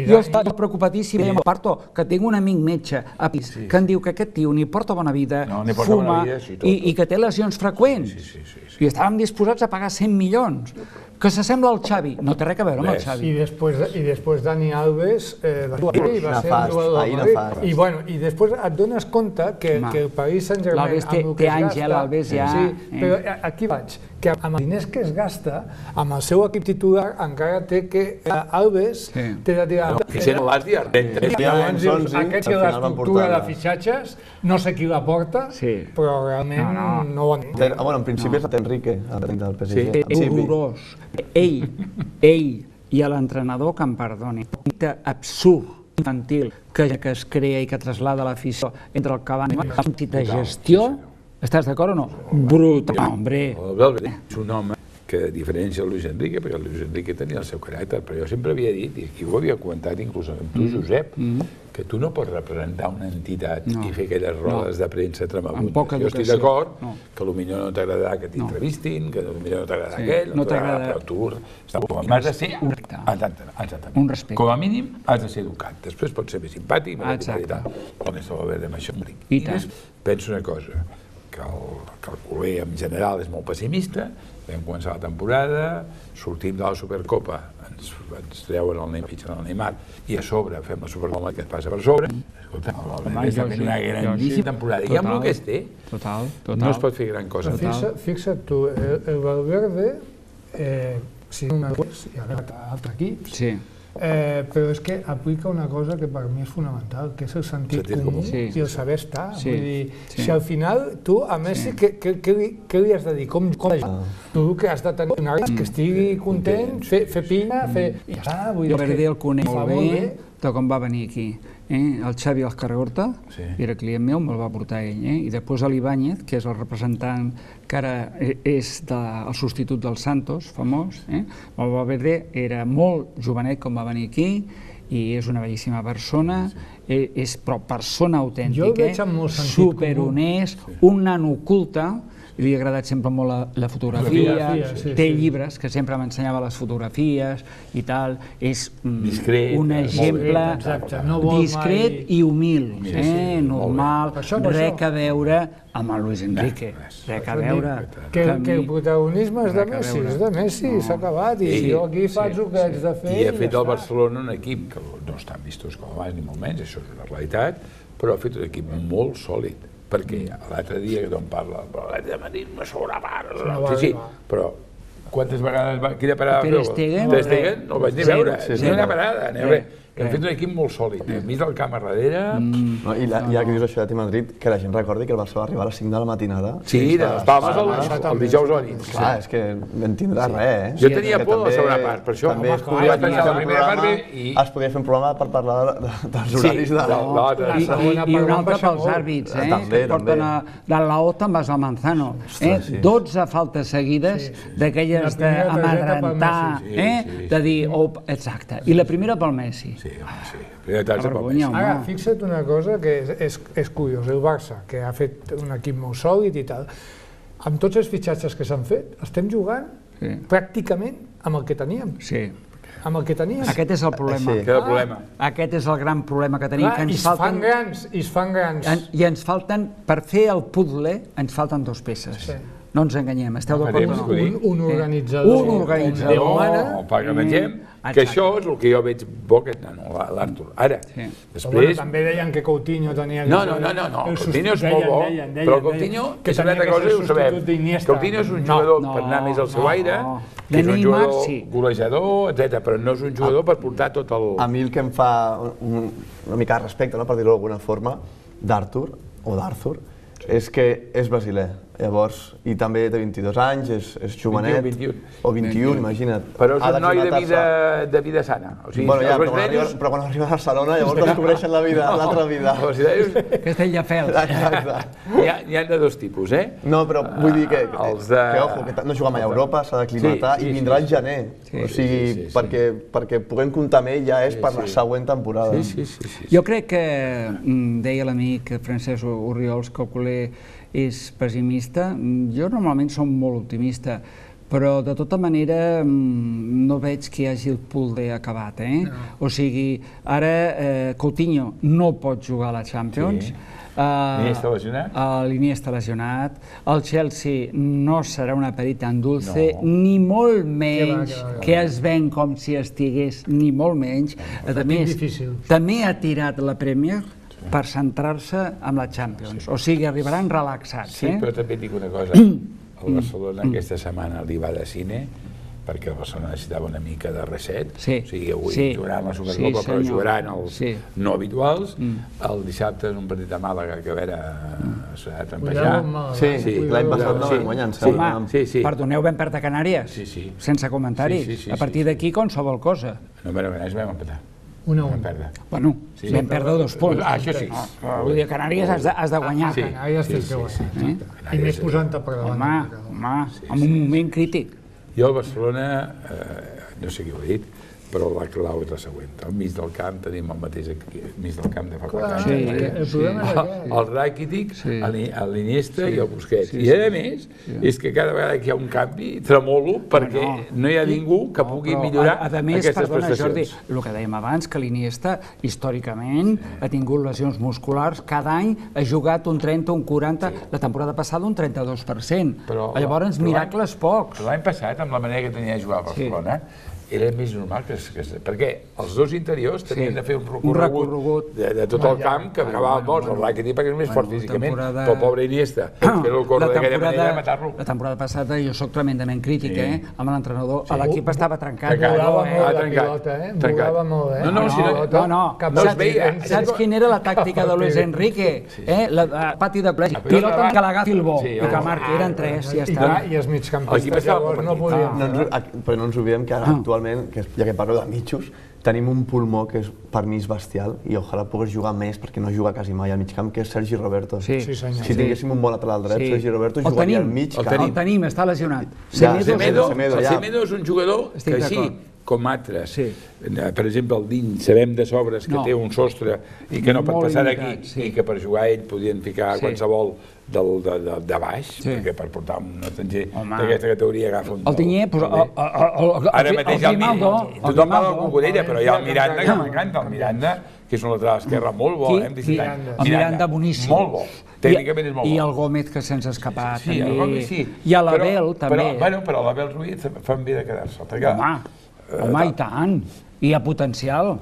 S2: jo estava preocupadíssim amb el Parto, que tinc un amic metge a Pis, que em diu que aquest tio ni porta bona vida, fuma i que té lesions freqüents. I estàvem disposats a pagar 100 milions. Que s'assembla al Xavi. No té res a veure amb el Xavi.
S3: I després Dani Alves va ser un jugador del Madrid. I després et dones compte que el Paris Saint-Germain...
S2: L'Alves té Àngel, Alves ja...
S3: Sí, però aquí vaig. Que amb els diners que es gasta, amb el seu equip titular, encara té que Alves té de tirar... Aquests que l'estructura de fitxatges, no sé qui la porta, però realment no ho han...
S4: Bueno, en principi és Enrique, el tècnic del PSG.
S2: És horrorós. Ell i l'entrenador, que em perdoni, un mite absurd, infantil, que es crea i que traslada l'afició entre el Cavani i la gestió. Estàs d'acord o no? Brutal, hombre.
S1: És un home que diferència el Luis Enrique, perquè el Luis Enrique tenia el seu caràcter, però jo sempre havia dit, i aquí ho havia comentat inclús amb tu, Josep, que tu no pots representar una entitat i fer aquelles rodes de premsa tremabundes. Jo estic d'acord que potser no t'agradarà que t'entrevistin, que potser no t'agradarà aquell, però tu has de ser
S2: un respecte.
S1: Com a mínim has de ser educat. Després pots ser més simpàtic, més educat i tal. On és el verd amb això? I penso una cosa, que el culer en general és molt pessimista, vam començar la temporada, sortim de la Supercopa, ens treuen el Neymar, fitxen el Neymar, i a sobre fem la Supercopa que et passa per sobre. Escolta, està fent una grandíssima temporada. I amb el que es té, no es pot fer gran cosa.
S3: Fixa't tu, el Valverde, si no és hi ha altre equip, però és que aplica una cosa que per mi és fonamental, que és el sentit comú i el saber estar. Vull dir, si al final tu a Messi què li has de dir? Com tu que has de tenir un àrbitre que estigui content, fer pinya, fer... I ja està, vull dir...
S2: Jo vaig dir el coneix molt bé de com va venir aquí. El Xavi Azcarragorta era client meu, me'l va portar ell, i després l'Ibáñez, que és el representant que ara és el substitut del Santos, famós, el Valverde era molt jovenet com va venir aquí i és una bellíssima persona, és però persona autèntica, superhonest, un nano culte, li ha agradat sempre molt la fotografia, té llibres que sempre m'ensenyava les fotografies i tal, és un exemple discret i humil, normal, res a veure amb el Luis Enrique, res a veure...
S3: Que el protagonisme és de Messi, s'ha acabat, i jo aquí faig el que haig de fer...
S1: I ha fet el Barcelona un equip que no estan vistos com abans ni molt menys, això és una realitat, però ha fet un equip molt sòlid. Perquè l'altre dia que tothom parla, l'Atlètic de Madrid me sobrepara, sí, però quantes vegades quina parada va fer? Ter Stegen no el vaig ni veure, ni una parada, hem fet un equip molt sòlid, hem vist el camp a darrere...
S4: I ja que dius això de Madrid, que la gent recordi que el Barça va arribar a les 5 de la matinada.
S1: Sí, de les Palmes el dijous a la nit.
S4: Clar, és que vam tindrà res,
S1: Jo tenia por de la segona part, per això es podia pensar la primera part bé i...
S4: Es podia fer un programa per parlar dels horaris de l'altre.
S2: I un altre pels àrbits, que porten de l'Ota amb el Manzano. 12 faltes seguides d'aquelles d'amedrentar, de dir, exacte, i la primera pel Messi.
S3: Ara, fixa't una cosa que és curiós, el Barça, que ha fet un equip molt sòlid i tal, amb tots els fitxatges que s'han fet, estem jugant pràcticament amb el que teníem.
S2: Sí.
S3: Amb el que teníem.
S2: Aquest és el problema. Aquest és el gran problema que tenim.
S3: I es fan grans.
S2: I ens falten, per fer el puzzle, ens falten 2 peces. No ens enganyem, esteu d'acord o no?
S3: Un organitzador.
S2: Un organitzador.
S1: Que això és el que jo veig bo aquest nano, l'Artur. Ara, després...
S3: També deien que Coutinho tenia...
S1: No, Coutinho és molt bo, però Coutinho és una altra cosa i ho sabem. Coutinho és un jugador per anar més al seu aire, que és un jugador golejador, etc., però no és un jugador per portar tot el...
S4: A mi el que em fa una mica de respecte, per dir-ho d'alguna forma, d'Artur, o d'Arthur, és que és brasiler. Llavors, i també té 22 anys, és jovenet, o 21, imagina't.
S1: Però és un noi de vida sana.
S4: Però quan arriba a Barcelona llavors descobreixen l'altra vida.
S2: Castelldefels.
S1: N'hi ha de 2 tipus,
S4: No, però vull dir que no juga mai a Europa, s'ha d'aclimatar i vindrà al gener. O sigui, perquè puguem comptar amb ell ja és per la següent temporada.
S2: Jo crec que, deia l'amic Francesc Orriols, que el culer és pessimista. Jo normalment som molt optimista, però de tota manera no veig que hi hagi el puzzle acabat. O sigui, ara Coutinho no pot jugar a la Champions.
S1: L'Iniesta
S2: lesionat. El Chelsea no serà una perita en dulce, ni molt menys que es ven com si estigués, ni molt menys. A més, també ha tirat la Premier per centrar-se en la Champions. O sigui, arribaran relaxats.
S1: Sí, però també et dic una cosa. El Barcelona aquesta setmana li va de cine perquè el Barcelona necessitava una mica de reset. O sigui, avui jugaran la Supercopa, però jugaran els no habituals. El dissabte és un partit a Màlaga que a veure s'ha de trampejar.
S4: Sí, l'any passat no vam guanyar.
S2: Home, perdoneu, vam perdre Canàries, sense comentaris. A partir d'aquí, qualsevol cosa.
S1: No, però Canàries vam empatar.
S2: 1-1. Bueno, vam perdre 2 punts.
S1: Això sí.
S2: Vull dir, Canàries has de guanyar.
S3: Canàries tens que guanyar. I més posant-te per davant.
S2: Home, en un moment crític.
S1: Jo al Barcelona, no sé qui ho ha dit, però la clau és la següent. Al mig del camp tenim el mateix mig del camp de fa 4 anys. El Rakitic, l'Iniesta i el Busquets. I a més, és que cada vegada que hi ha un canvi tremolo perquè no hi ha ningú que pugui millorar aquestes prestacions.
S2: Jordi, el que dèiem abans, que l'Iniesta històricament ha tingut lesions musculars, cada any ha jugat un 30, un 40, la temporada passada un 32%. Llavors, miracles pocs.
S1: L'any passat, amb la manera que tenia de jugar a Barcelona, era més normal perquè els dos interiors tenien de fer un recorregut de tot el camp que acabava morts. El Rakitic perquè és més fort físicament, però el pobre Iniesta, fer-lo córrer d'aquella manera de matar-lo.
S2: La temporada passada jo soc tremendament crític, amb l'entrenador. L'equip estava trencat.
S3: Volava molt la pilota, volava molt,
S2: No es veia. Saps quina era la tàctica de Luis Enrique? El pati de plegi. Pilota que l'agafi el bo i que marqui. Eren 3, ja està.
S3: I els migcampistes llavors no podien...
S4: Però no ens oblidem que ara actualment, ja que parlo de mitjos, tenim un pulmó que per mi és bestial i ojalà pogués jugar més perquè no juga quasi mai al mig camp, que és Sergi Roberto. Si tinguéssim un bon lateral dret, Sergi Roberto jugaria al mig camp.
S2: El tenim, està lesionat.
S1: Semedo és un jugador que així, com altres, per exemple el Diny, sabem de sobres que té un sostre i que no pot passar d'aquí i que per jugar ell podien ficar qualsevol de baix, perquè per portar un estranger d'aquesta categoria agafa un...
S2: El Tinyer,
S1: ara mateix tothom parla del Cucurella, però hi ha el Miranda, que m'encanta, el Miranda, que és un lateral esquerre molt bo,
S2: el Miranda boníssim.
S1: Molt bo, tècnicament és molt bo.
S2: I el Gómez, que se'ns ha escapat,
S1: també. Sí, el Gómez sí.
S2: I a l'Abel, també.
S1: Però l'Abel Ruiz fan bé de quedar-se.
S2: Home, i tant. I a potencial.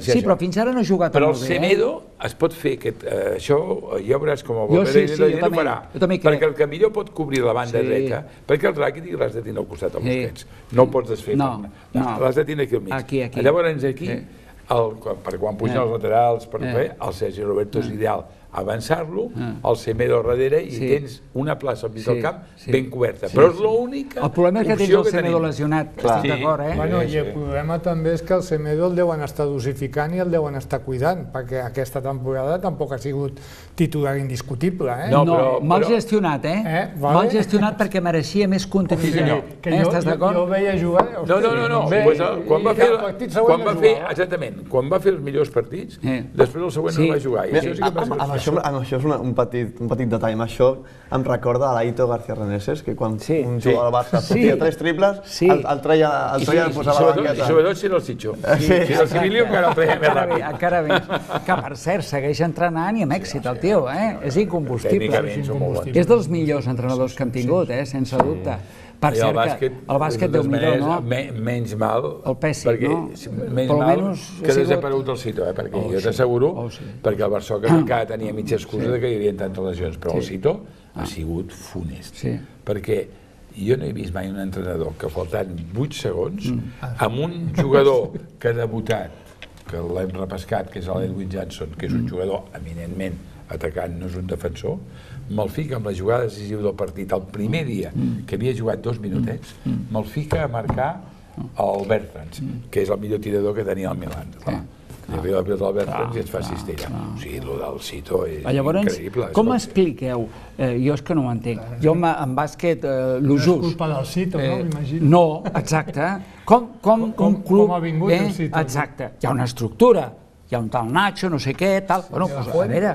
S2: Sí, però fins ara no ha jugat molt bé.
S1: Però el Semedo es pot fer, això ja veuràs com el Valverde ho farà, perquè el que millor pot cobrir la banda dreta, perquè el Rakitic l'has de tenir al costat del Busquets, no el pots desfer, l'has de tenir aquí al mig. Llavors aquí, per quan pugen els laterals, el Sergi Roberto és ideal avançar-lo, el Semedo darrere i tens una plaça al mig del camp ben coberta, però és l'única opció que tenim.
S2: El problema és que tens el Semedo lesionat, estic d'acord,
S3: I el problema també és que el Semedo el deuen estar dosificant i el deuen estar cuidant, perquè aquesta temporada tampoc ha sigut titular indiscutible.
S2: No, mal gestionat, mal gestionat perquè mereixia més continuïtat. Estàs d'acord?
S3: Jo el veia jugar...
S1: No, quan va fer els millors partits, després el següent no va jugar.
S4: Amb això és un petit detall. Amb això em recorda a l'Aito García Reneses, que quan un jugador del Barça fotia 3 triples, el treia i el posava a la banqueta.
S1: I sobretot si era el Sitxo. Si era el Civilio, encara el treia més ràpid.
S2: Encara més. Que, per cert, segueix entrenant i amb èxit, el tio. És incombustible. És dels millors entrenadors que hem tingut, sense dubte. Per cert, que el bàsquet, Déu-n'hi-do, no?
S1: Menys mal,
S2: el pèssim, no?
S1: Menys mal que desaparegut el Cito, perquè jo t'asseguro, perquè el Barçoca encara tenia mitja excusa que hi havia tantes lesions, però el Cito ha sigut funest, perquè jo no he vist mai un entrenador que faltant 8 segons, amb un jugador que ha debutat, que l'hem repescat, que és l'Edwin Johnson, que és un jugador eminentment atacant, no és un defensor, me'l fica amb la jugada decisiva del partit el primer dia, que havia jugat 2 minutets, me'l fica a marcar el Bertans, que és el millor tirador que tenia el Milan. Li arriba la pilota al Bertans i et fa cistella. O sigui, el del Cito és increïble.
S2: Com expliqueu? Jo és que no ho entenc. Jo en bàsquet, lo just...
S3: No és culpa del Cito, no? M'imagino.
S2: No, exacte. Com un club...
S3: ha vingut el Cito.
S2: Exacte. Hi ha una estructura. Hi ha un tal Nacho, no sé què, tal... Bueno, a veure,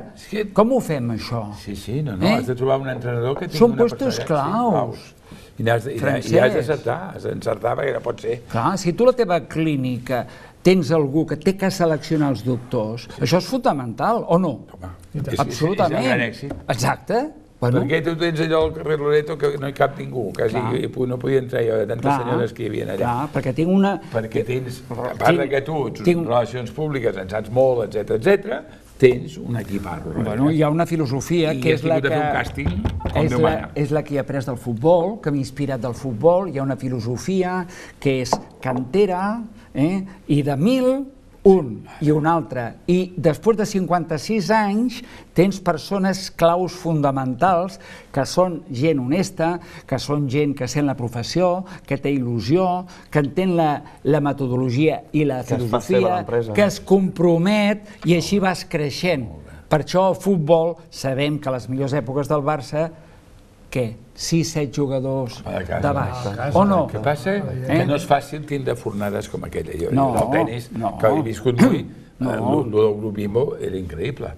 S2: com ho fem, això?
S1: Sí, no, has de trobar un entrenador que tingui
S2: són
S1: una
S2: puestos claus.
S1: I has d'encertar, perquè no pot ser.
S2: Clar, si tu a la teva clínica tens algú que té que seleccionar els doctors, això és fonamental, o no? Absolutament.
S1: És un gran èxit.
S2: Exacte.
S1: Perquè tu tens allò al carrer Loreto que no hi cap ningú, quasi no podia entrar jo de tantes senyores que hi havia allà.
S2: Clar, perquè tinc una...
S1: Perquè tens, a part que tu, relacions públiques, en saps molt, etcètera, tens un equip arro.
S2: Bueno, hi ha una filosofia que és la que...
S1: I has tingut de fer un càsting, com Déu mana.
S2: És la que he après del futbol, que m'ha inspirat del futbol, hi ha una filosofia que és cantera, i de 1000, un i un altre. I després de 56 anys tens persones claus fonamentals que són gent honesta, que són gent que sent la professió, que té il·lusió, que entén la metodologia i la filosofia, que es compromet i així vas creixent. Per això el futbol sabem que a les millors èpoques del Barça què? 6-7 jugadors de baix,
S1: o
S2: no?
S1: El que passa que no és fàcil tindre fornades com aquella. Jo, del tenis, que he viscut molt, el del grup Bimbo era increïble.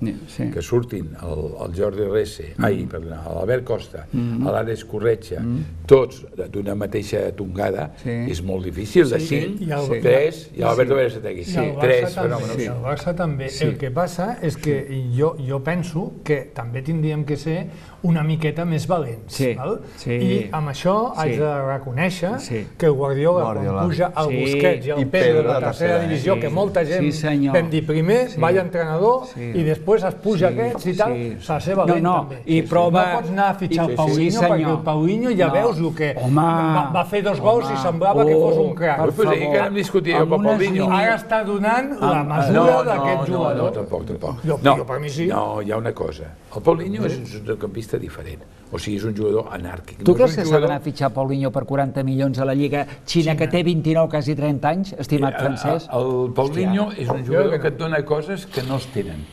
S1: Que surtin el Jordi Resse, l'Albert Costa, l'Àlex Corretja, tots d'una mateixa tongada, és molt difícil de 5, 3, i l'Alberto Berasategui, 3 fenòmenos.
S3: I el Barça també. El que passa és que jo penso que també tindríem que ser una miqueta més valents. I amb això haig de reconèixer que el Guardiola, quan puja el Busquets i el Pedro de la tercera divisió, que molta gent vam dir primer, vaya entrenador, i després es puja aquests i tal, s'ha de ser valent també. No pots anar a fitxar el Paulinho, perquè el Paulinho ja veus el que va fer 2 gols i semblava que fos un crac.
S1: Però sí que hem discutit amb el Paulinho.
S3: Ara està donant la mesura d'aquest jugador.
S1: No, tampoc.
S3: Jo per mi sí.
S1: No, hi ha una cosa. El Paulinho és un centrocampista diferent. O sigui, és un jugador anàrquic.
S2: Tu creus que s'ha d'anar a fitxar Paulinho per 40 milions a la Lliga Xina, que té 29, quasi 30 anys, estimat francès?
S1: El Paulinho és un jugador que et dona coses que no es tenen.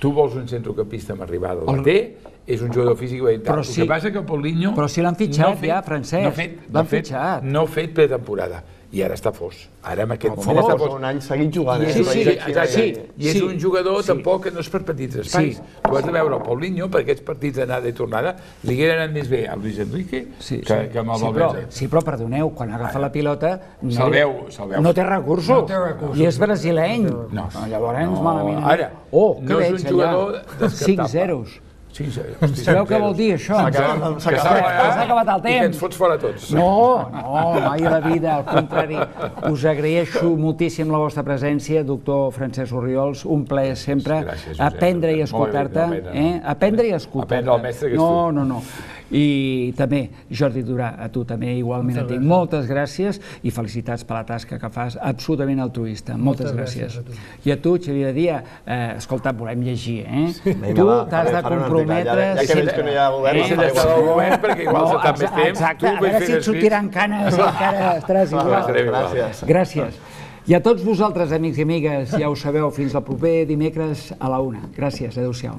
S1: Tu vols un centrocampista amb arribada, la té, és un jugador físic i tal. El que passa que el Paulinho...
S2: Però si l'han fitxat ja, francès. L'han fitxat.
S1: No ha fet pretemporada. I ara està fos. Ara amb aquest moment
S4: està fos. Un any seguit jugant.
S1: I és un jugador tampoc que no és per petits espais. Tu has de veure el Paulinho, per aquests partits d'anada i tornada, li hagués anat més bé a Luis Enrique que amb el Valverde.
S2: Sí, però perdoneu, quan agafa la pilota
S1: no
S2: té recursos. I és brasileny. Llavors, malament.
S1: Ara, no és un jugador descartable.
S2: 5-0. Sabeu què vol dir això? S'ha acabat el temps.
S1: I que ens fots fora tots.
S2: No, mai a la vida, al contrari. Us agraeixo moltíssim la vostra presència, doctor Francesc Orriols, un plaer sempre aprendre i escoltar-te. Aprendre i escoltar-te.
S1: Aprendre el mestre que és tu.
S2: No. I també, Jordi Durà, a tu també igualment et dic moltes gràcies i felicitats per la tasca que fas, absolutament altruista. Moltes gràcies. I a tu, Xavier Díaz, escolta, volem llegir, Tu t'has de comprometre...
S4: Ja que veig que no hi ha govern...
S1: Deixa d'estar al govern perquè igual s'ha estat més temps.
S2: Exacte, a veure si et sortiran canes i encara estaràs igual. Gràcies. I a tots vosaltres, amics i amigues, ja ho sabeu, fins al proper dimecres a la 1. Gràcies, adéu-siau.